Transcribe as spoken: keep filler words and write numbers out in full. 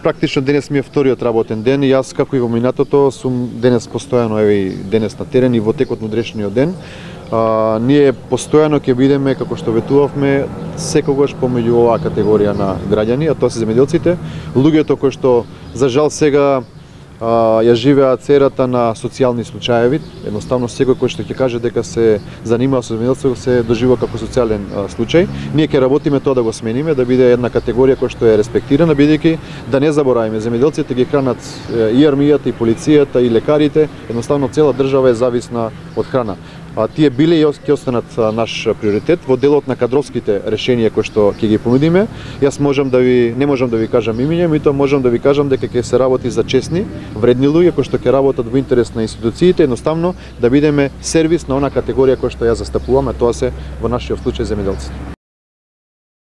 практично денес ми е вториот работен ден и јас како и во минатото сум денес постојано еве денес на терен и во текот на утрешниот ден. А, ние постојано ќе бидеме, како што ветувавме, секогаш помеѓу оваа категорија на граѓани, а тоа се земјоделците, луѓето кои што за жал сега а, ја живеат серата на социјални случаеви. Едноставно секој кој што ќе каже дека се занимава со земјоделство се доживува како социјален а, случај. Ние ќе работиме тоа да го смениме, да биде една категорија која што е респектирана, бидејќи да не забораваме земјоделците ги хранат и армијата, и полицијата, и лекарите, едноставно цела држава е зависна од храна. А тие биле и ќе останат наш приоритет во делот на кадровските решенија кои што ќе ги понудиме. Јас можам да ви не можам да ви кажам имиња, меѓутоа можам да ви кажам дека ќе се работи за честни, вредни луѓе кои што ќе работат во интерес на институциите, едноставно да бидеме сервис на она категорија која што ја застапуваме, тоа се во нашиот случај земјоделците.